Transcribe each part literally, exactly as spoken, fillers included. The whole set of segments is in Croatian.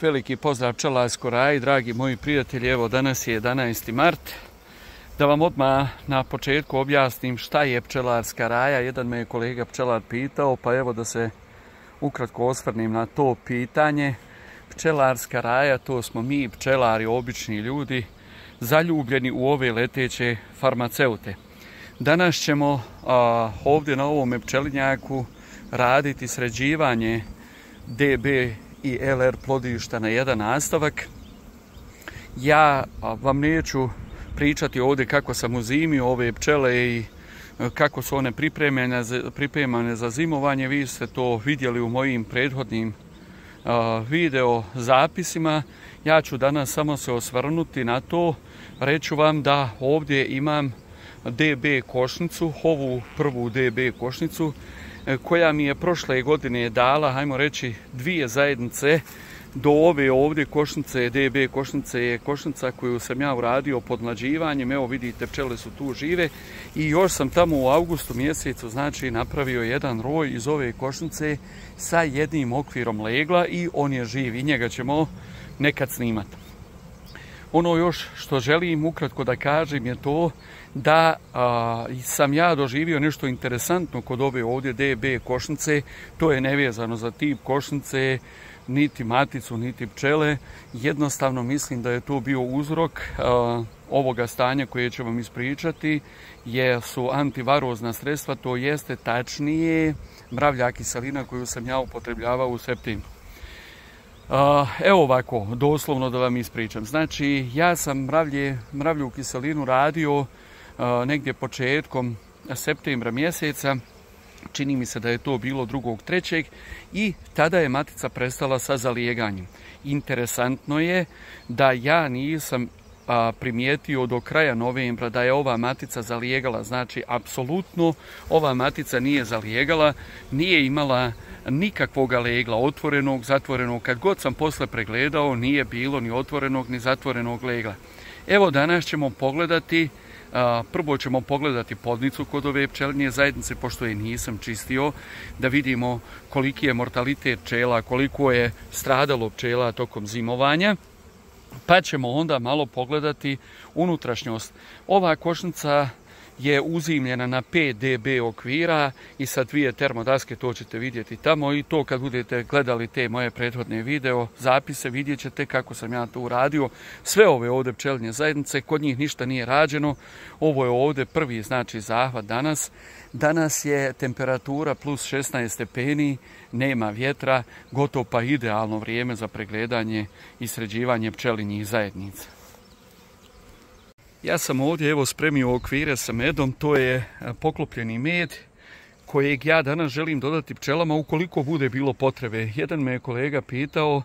Veliki pozdrav pčelarskoj raji, dragi moji prijatelji, evo danas je jedanaesti mart. Da vam odmah na početku objasnim šta je pčelarska raja. Jedan me je kolega pčelar pitao, pa evo da se ukratko osvrnem na to pitanje. Pčelarska raja, to smo mi, pčelari, obični ljudi, zaljubljeni u ove leteće farmaceute. Danas ćemo a, ovdje na ovome pčelinjaku raditi sređivanje D B i L R plodišta na jedan nastavak. Ja vam neću pričati ovdje kako sam uzimio ove pčele i kako su one pripremljene za, pripremane za zimovanje. Vi ste to vidjeli u mojim prethodnim uh, video zapisima. Ja ću danas samo se osvrnuti na to. Reću vam da ovdje imam D B košnicu, ovu prvu D B košnicu, koja mi je prošle godine dala, hajmo reći, dvije zajednice. Do ove ovdje košnice, D B košnice, je košnica koju sam ja uradio podmlađivanjem. Evo vidite, pčele su tu žive i još sam tamo u avgustu mjesecu, znači, napravio jedan roj iz ove košnice sa jednim okvirom legla i on je živ i njega ćemo nekad snimati. Ono još što želim ukratko da kažem je to da a, sam ja doživio nešto interesantno kod ove ovdje D B košnice. To je nevezano za tip košnice, niti maticu, niti pčele. Jednostavno mislim da je to bio uzrok a, ovoga stanja koje ću vam ispričati, je su antivarozna sredstva, to jeste tačnije mravlja kiselina koju sam ja upotrebljavao u septembru. Uh, evo ovako, doslovno da vam ispričam. Znači, ja sam mravlje, mravlju kiselinu radio uh, negdje početkom septembra mjeseca. Čini mi se da je to bilo drugog trećeg i tada je matica prestala sa zalijeganjem. Interesantno je da ja nisam a, primijetio do kraja novembra da je ova matica zalijegala. Znači, apsolutno ova matica nije zalijegala, nije imala nikakvog legla, otvorenog, zatvorenog. Kad god sam posle pregledao, nije bilo ni otvorenog ni zatvorenog legla. Evo danas ćemo pogledati, a, prvo ćemo pogledati podnicu kod ove pčelinje zajednice, pošto je nisam čistio, da vidimo koliki je mortalitet pčela, koliko je stradalo pčela tokom zimovanja. Pa ćemo onda malo pogledati unutrašnjost. Ova košnica je uzimljena na pet D B okvira i sa dvije termodaske, to ćete vidjeti tamo, i to kad budete gledali te moje prethodne video zapise vidjet ćete kako sam ja to uradio. Sve ove ovdje pčelinje zajednice, kod njih ništa nije rađeno. Ovo je ovdje prvi, znači, zahvat danas. Danas je temperatura plus šesnaest stepeni, nema vjetra, gotovo pa idealno vrijeme za pregledanje i sređivanje pčelinjih zajednica. Ja sam ovdje evo spremio okvire sa medom, to je poklopljeni med kojeg ja danas želim dodati pčelama ukoliko bude bilo potrebe. Jedan me je kolega pitao,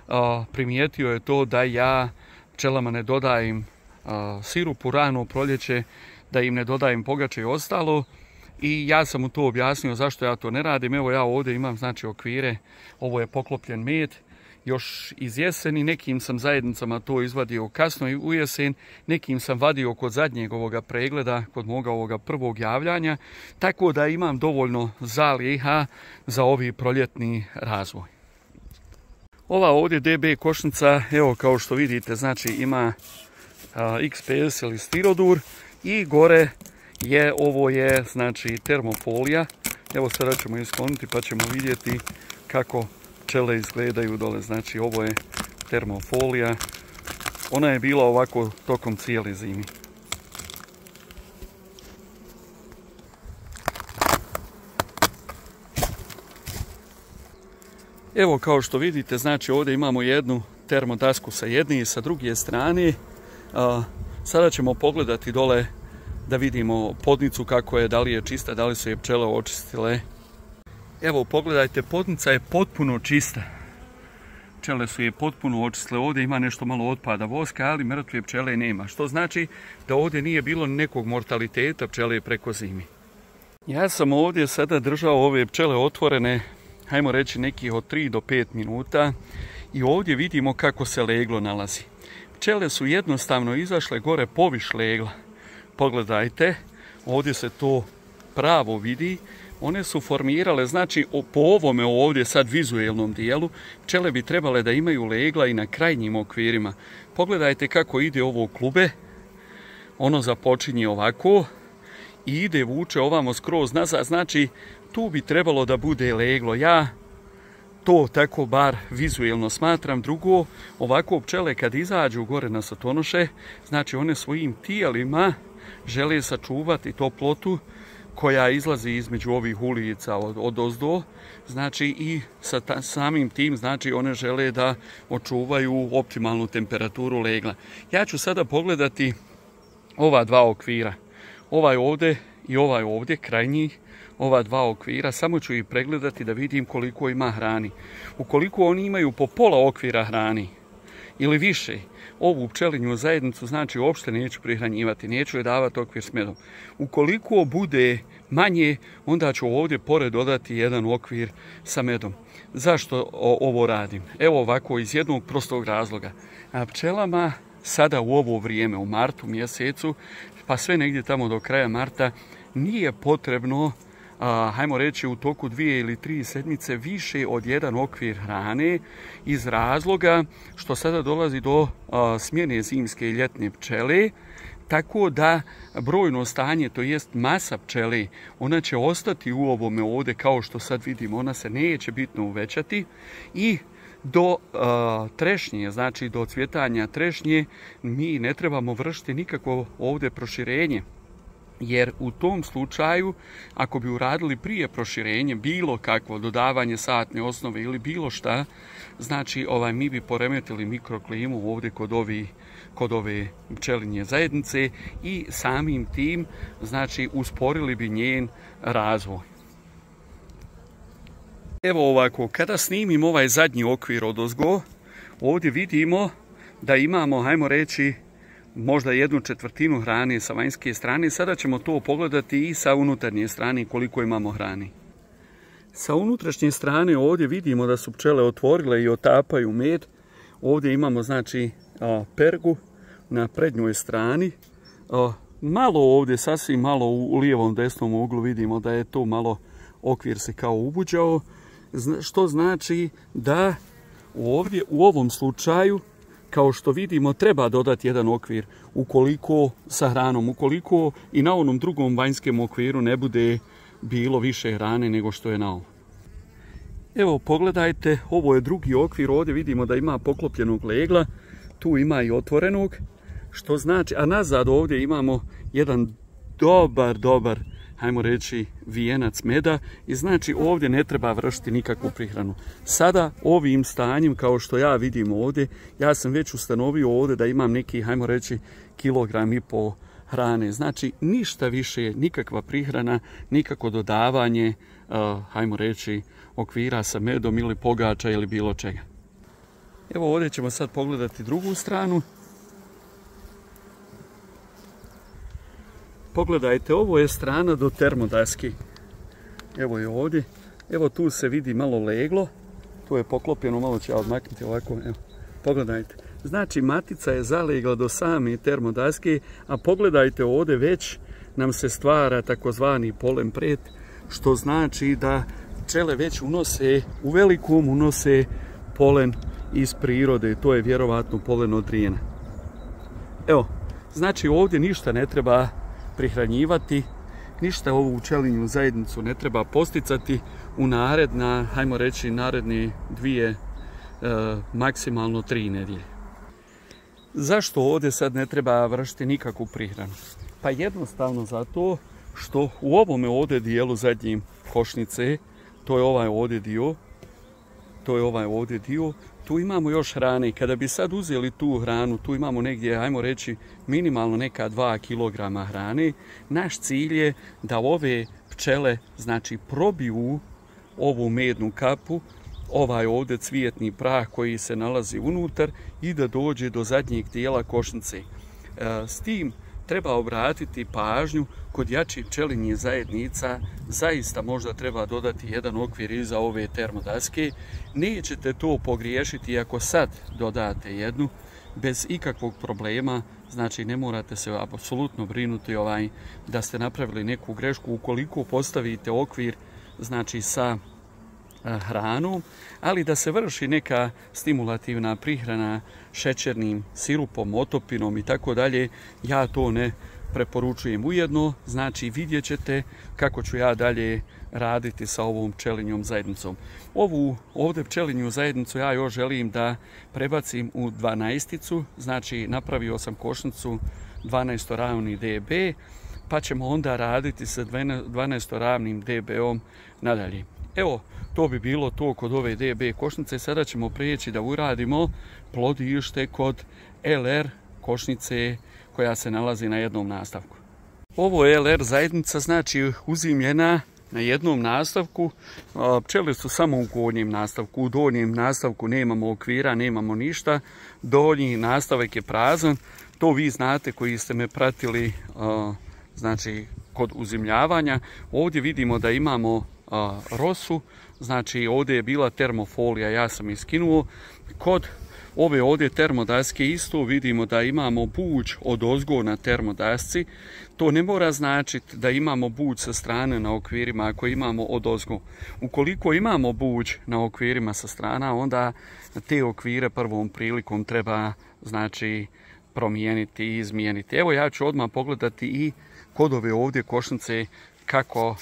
a, primijetio je to da ja pčelama ne dodajem a, sirup u rano proljeće, da im ne dodajem pogače i ostalo. I ja sam mu to objasnio zašto ja to ne radim. Evo ja ovdje imam, znači, okvire, ovo je poklopljen med. Još iz jeseni, nekim sam zajednicama to izvadio kasno i u jesen, nekim sam vadio kod zadnjeg ovoga pregleda, kod moga ovoga prvog javljanja, tako da imam dovoljno zaliha za ovi proljetni razvoj. Ova ovdje D B košnica, evo kao što vidite, znači ima a, X P S ili stirodur i gore je, ovo je, znači, termofolija. Evo sada ćemo iskloniti pa ćemo vidjeti kako pčele izgledaju dole. Znači, ovo je termofolija. Ona je bila ovako tokom cijele zime. Evo kao što vidite, znači ovdje imamo jednu termodasku sa jedne i sa druge strane. A, sada ćemo pogledati dole da vidimo podnicu kako je, da li je čista, da li su je pčele očistile. Evo, pogledajte, podnica je potpuno čista. Pčele su je potpuno očistile. Ovdje ima nešto malo otpada voska, ali mrtve pčele nema. Što znači da ovdje nije bilo nekog mortaliteta pčele preko zimi. Ja sam ovdje sada držao ove pčele otvorene, hajmo reći nekih od tri do pet minuta. I ovdje vidimo kako se leglo nalazi. Pčele su jednostavno izašle gore poviš legla. Pogledajte, ovdje se to pravo vidi. one su formirale, znači po ovome ovdje sad vizuelnom dijelu, pčele bi trebale da imaju legla i na krajnjim okvirima. Pogledajte kako ide ovo klube, ono započinje ovako i ide vuče ovamo skroz nazad, znači tu bi trebalo da bude leglo. Ja to tako bar vizuelno smatram. Drugo, ovako pčele kad izađu gore na satonoše, znači one svojim tijelima žele sačuvati toplotu koja izlazi između ovih ulica od, od ozdo, znači i sa ta, samim tim, znači one žele da očuvaju optimalnu temperaturu legla. Ja ću sada pogledati ova dva okvira, ovaj ovdje i ovaj ovdje, krajnji, ova dva okvira, samo ću ih pregledati da vidim koliko ima hrani. Ukoliko oni imaju po pola okvira hrani ili više, ovu pčelinju zajednicu, znači uopšte neću prihranjivati, neću je davati okvir s medom. Ukoliko bude manje, onda ću ovdje pored dodati jedan okvir sa medom. Zašto ovo radim? Evo ovako, iz jednog prostog razloga. A pčelama sada u ovo vrijeme, u martu mjesecu, pa sve negdje tamo do kraja marta, nije potrebno, a, hajmo reći, u toku dvije ili tri sedmice više od jedan okvir hrane, iz razloga što sada dolazi do a, smjene zimske i ljetne pčele, tako da brojno stanje, to jest masa pčele, ona će ostati u ovome ovdje kao što sad vidimo, ona se neće bitno uvećati i do uh, trešnje, znači do cvjetanja trešnje, mi ne trebamo vršiti nikakvo ovdje proširenje. Jer u tom slučaju, ako bi uradili prije proširenje, bilo kakvo dodavanje satne osnove ili bilo šta, znači ovaj, mi bi poremetili mikroklimu ovdje kod, ovi, kod ove pčelinje zajednice i samim tim, znači, usporili bi njen razvoj. Evo ovako, kada snimim ovaj zadnji okvir odozgo, ovdje vidimo da imamo, hajmo reći, možda jednu četvrtinu hrane sa vanjske strane. Sada ćemo to pogledati i sa unutarnje strane koliko imamo hrane. Sa unutrašnje strane ovdje vidimo da su pčele otvorile i otapaju med. Ovdje imamo, znači, pergu na prednjoj strani. Malo ovdje, sasvim malo u lijevom desnom uglu vidimo da je to malo okvir se kao ubuđao. Što znači da ovdje u ovom slučaju, kao što vidimo, treba dodati jedan okvir ukoliko sa hranom, ukoliko i na onom drugom vanjskom okviru ne bude bilo više hrane nego što je na ovom. Evo pogledajte, ovo je drugi okvir, ovdje vidimo da ima poklopljenog legla, tu ima i otvorenog, što znači, a nazad ovdje imamo jedan dobar, dobar, hajmo reći, vijenac meda i znači ovdje ne treba vršiti nikakvu prihranu. Sada ovim stanjem, kao što ja vidim ovdje, ja sam već ustanovio ovdje da imam neki, hajmo reći, kilogram i po hrane. Znači ništa više, nikakva prihrana, nikako dodavanje, uh, hajmo reći, okvira sa medom ili pogača ili bilo čega. Evo ovdje ćemo sad pogledati drugu stranu. Pogledajte, ovo je strana do termodaske. Evo je ovdje. Evo tu se vidi malo leglo. Tu je poklopljeno, malo ću ja odmaknuti ovako. Evo, pogledajte. Znači matica je zalegla do same termodaske, a pogledajte ovdje već nam se stvara takozvani polen pret, što znači da pčele već unose, u velikom unose polen iz prirode. To je vjerovatno polen od rijena. Evo, znači ovdje ništa ne treba prihranjivati, ništa ovu pčelinju zajednicu ne treba posticati u naredna, hajmo reći, naredne dvije, e, maksimalno tri nedjelje. Zašto ovdje sad ne treba vršiti nikakvu prihranu? Pa jednostavno zato što u ovome ovdje dijelu zadnjim košnice, to je ovaj ovdje dio, to je ovaj ovdje dio, tu imamo još hrane. Kada bi sad uzeli tu hranu, tu imamo negdje, ajmo reći, minimalno neka dva kilograma hrane. Naš cilj je da ove pčele, znači, probiju ovu mednu kapu, ovaj ovdje cvijetni prah koji se nalazi unutar i da dođe do zadnjeg dijela košnice. S tim treba obratiti pažnju kod jačih pčelinjih zajednica, zaista možda treba dodati jedan okvir iza ove termodaske. Nećete to pogriješiti ako sad dodate jednu, bez ikakvog problema, znači ne morate se apsolutno brinuti ovaj, da ste napravili neku grešku. Ukoliko postavite okvir znači sa hranom, ali da se vrši neka stimulativna prihrana šećernim sirupom, otopinom i tako dalje, ja to ne preporučujem. Ujedno, znači vidjet ćete kako ću ja dalje raditi sa ovom pčelinjom zajednicom. Ovu ovdje pčelinju zajednicu ja još želim da prebacim u dvanaesticu, znači napravio sam košnicu dvanaestoravni D B, pa ćemo onda raditi sa dvanaestoravnim D B-om nadalje. Evo, to bi bilo to kod ove D B košnice. Sada ćemo prijeći da uradimo plodište kod L R košnice koja se nalazi na jednom nastavku. Ovo je L R zajednica, znači uzimljena na jednom nastavku. Pčele su samo u gornjem nastavku. U donjem nastavku nemamo okvira, nemamo ništa. Donji nastavak je prazan. To vi znate koji ste me pratili, znači kod uzimljavanja. Ovdje vidimo da imamo rosu, znači ovdje je bila termofolija, ja sam iskinuo. Kod ove ovdje termodaske isto vidimo da imamo buđ od ozgo na termodasci. To ne mora značiti da imamo buđ sa strane na okvirima ako imamo od ozgo. Ukoliko imamo buđ na okvirima sa strana, onda te okvire prvom prilikom treba znači promijeniti i izmijeniti. Evo ja ću odmah pogledati i kod ove ovdje košnice kako,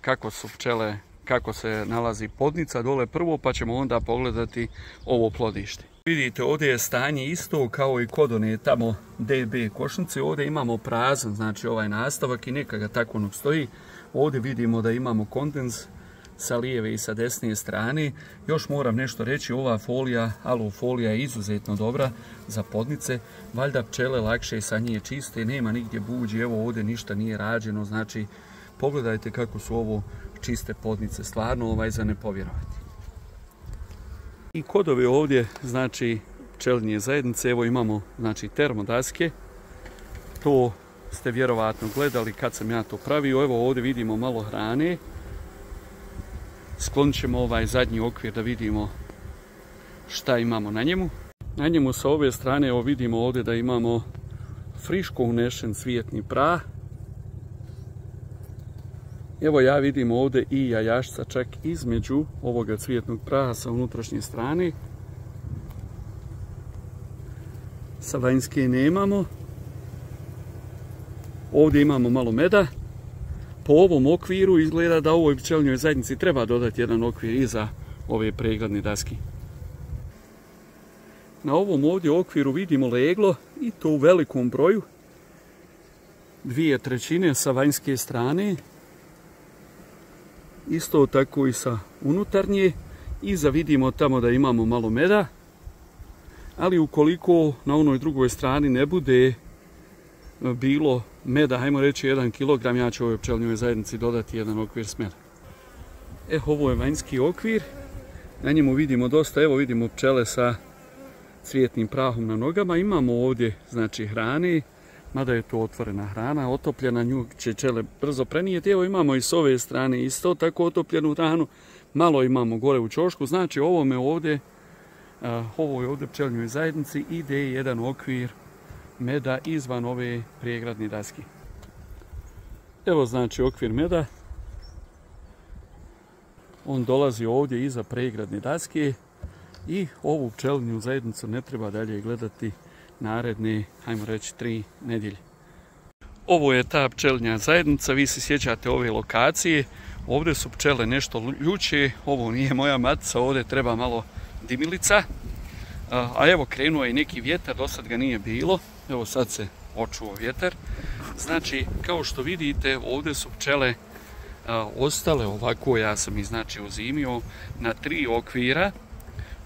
kako su pčele, kako se nalazi podnica dole prvo, pa ćemo onda pogledati ovo plodište. Vidite, ovdje je stanje isto kao i kod one tamo D B košnice. Ovdje imamo prazan, znači ovaj nastavak i neka ga tako ono stoji. Ovdje vidimo da imamo kondens sa lijeve i sa desne strane. Još moram nešto reći, ova folija, alufolija je izuzetno dobra za podnice. Valjda pčele lakše sa nje čiste, nema nigdje buđi, evo ovdje ništa nije rađeno, znači pogledajte kako su ovo čiste podnice, stvarno ovaj za ne povjerovati. I kod ove ovdje, znači pčelinje zajednice, evo imamo znači termodaske, to ste vjerovatno gledali kad sam ja to pravio. Evo ovdje vidimo malo hrane. Sklonit ćemo ovaj zadnji okvir da vidimo šta imamo na njemu. Na njemu sa ove strane evo vidimo ovdje da imamo friško unešen cvijetni prah. Evo ja vidim ovdje i jajašca čak između ovoga cvijetnog praha sa unutrašnje strane. Sa vanjske nemamo. Ovdje imamo malo meda. Po ovom okviru izgleda da ovoj pčelinjoj zajednici treba dodati jedan okvir iza ove pregradne daske. Na ovom ovdje okviru vidimo leglo i to u velikom broju. Dvije trećine sa vanjske strane. Isto tako i sa unutarnje. Iza vidimo tamo da imamo malo meda. Ali ukoliko na onoj drugoj strani ne bude bilo meda, hajmo reći jedan kilogram, ja ću ovoj pčelinjoj zajednici dodati jedan okvir s meda. E, ovo je vanjski okvir. Na njemu vidimo dosta, evo vidimo pčele sa cvijetnim prahom na nogama. Imamo ovdje znači hrane, mada je to otvorena hrana, otopljena, nju će pčele brzo prenijeti. Evo imamo i s ove strane isto tako otopljenu hranu, malo imamo gore u ćošku, znači ovome ovdje, ovoj ovdje pčelinjoj zajednici ide jedan okvir meda izvan ove pregradne daske. Evo znači okvir meda. On dolazi ovdje iza pregradne daske i ovu pčelinju zajednicu ne treba dalje gledati naredne, hajmo reći, tri nedjelje. Ovo je ta pčelinja zajednica, vi se sjećate ove lokacije. Ovdje su pčele nešto ljuće, ovo nije moja matica, ovdje treba malo dimilica. A evo krenuo je neki vjetar, do sad ga nije bilo. Evo sad se očuo vjetar. Znači, kao što vidite, ovdje su pčele a, ostale ovako, ja sam ih znači uzimio na tri okvira.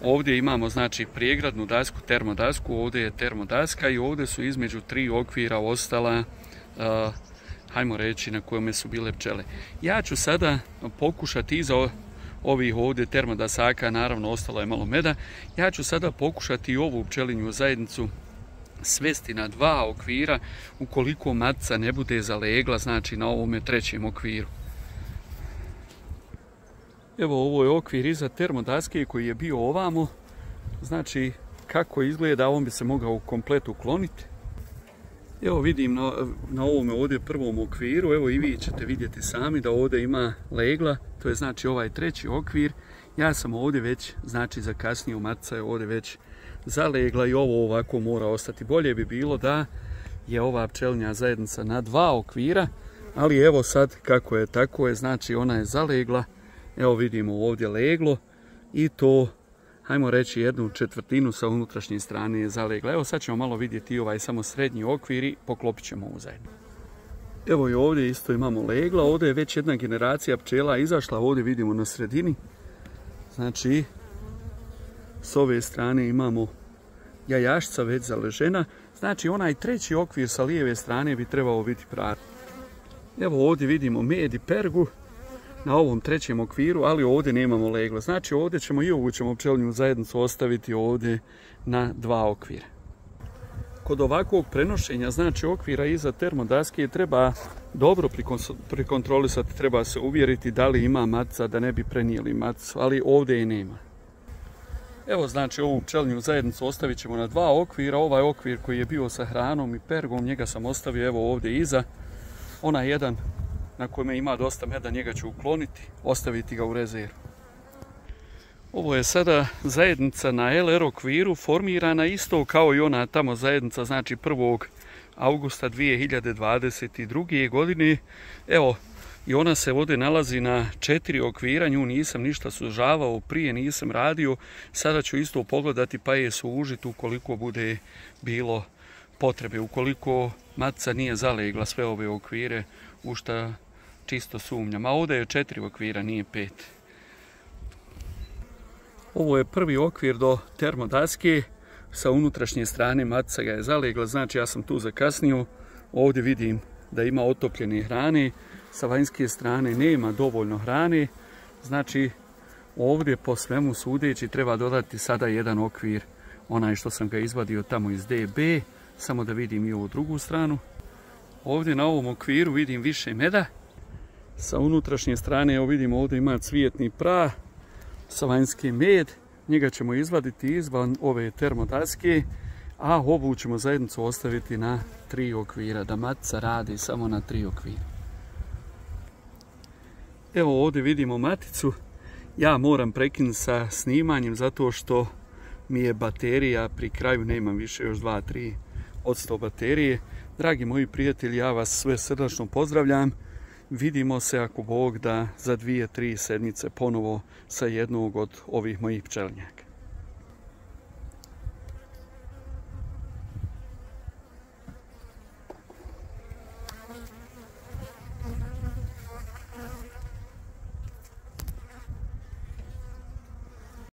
Ovdje imamo znači pregradnu dasku, termodasku, ovdje je termodaska i ovdje su između tri okvira ostala, a, hajmo reći, na kojome su bile pčele. Ja ću sada pokušati iza ovih ovdje termodasaka, naravno ostalo je malo meda, ja ću sada pokušati ovu pčelinju zajednicu svesti na dva okvira ukoliko matica ne bude zalegla, znači na ovome trećem okviru. Evo ovo je okvir iza termodaske koji je bio ovamo, znači kako izgleda, on bi se mogao komplet ukloniti. Evo vidim na, na ovome ovdje prvom okviru, evo i vi ćete vidjeti sami da ovdje ima legla, to je znači ovaj treći okvir. Ja sam ovdje već, znači zakasnio, matica je ovdje već zalegla i ovo ovako mora ostati. Bolje bi bilo da je ova pčelinja zajednica na dva okvira, ali evo sad kako je, tako je, znači ona je zalegla. Evo vidimo ovdje leglo i to, hajmo reći, jednu četvrtinu sa unutrašnje strane je zalegla. Evo sad ćemo malo vidjeti ovaj samo srednji okvir i poklopit ćemo ovu zajedno. Evo i ovdje isto imamo legla, ovdje je već jedna generacija pčela izašla, ovdje vidimo na sredini. Znači, s ove strane imamo jajašca već zaležena, znači onaj treći okvir sa lijeve strane bi trebao biti pravi. Evo ovdje vidimo med i pergu na ovom trećem okviru, ali ovdje nemamo legla. Znači ovdje ćemo i ovu ćemo pčelinju zajednicu ostaviti ovdje na dva okvira. Kod ovakvog prenošenja, znači okvira iza termodaske, treba dobro prikontrolisati, treba se uvjeriti da li ima matica, da ne bi prenijeli maticu, ali ovdje je nema. Evo znači ovu pčelinju zajednicu ostavit ćemo na dva okvira. Ovaj okvir koji je bio sa hranom i pergom, njega sam ostavio evo ovdje iza. Onaj jedan na kojem ima dosta meda, njega ću ukloniti, ostaviti ga u rezervu. Ovo je sada zajednica na L R okviru, formirana isto kao i ona tamo zajednica, znači prvog augusta dvije hiljade dvadeset druge. godine. Evo, i ona se ovdje nalazi na četiri okvira, nju nisam ništa sužavao, prije nisam radio, sada ću isto pogledati pa je sužiti ukoliko bude bilo potrebe, ukoliko matica nije zalegla sve ove okvire, u šta čisto sumnjam. A ovdje je četiri okvira, nije pet. Ovo je prvi okvir do termodaske, sa unutrašnje strane matica ga je zalegla, znači ja sam tu zakasnio. Ovdje vidim da ima otopljene hrane, sa vanjske strane nema dovoljno hrane, znači ovdje po svemu sudeći treba dodati sada jedan okvir, onaj što sam ga izvadio tamo iz D B, samo da vidim i ovu drugu stranu. Ovdje na ovom okviru vidim više meda, sa unutrašnje strane evo vidimo ovdje ima cvijetni prah, sa vanjske med, njega ćemo izvaditi izvan ove termodaske, a ovu ćemo zajednicu ostaviti na tri okvira, da matica radi samo na tri okvira. Evo ovdje vidimo maticu, ja moram prekinuti sa snimanjem zato što mi je baterija pri kraju, nemam više još dva do tri posto baterije. Dragi moji prijatelji, ja vas sve srdačno pozdravljam. Vidimo se ako Bog da za dvije, tri sedmice ponovo sa jednog od ovih mojih pčelinjaka.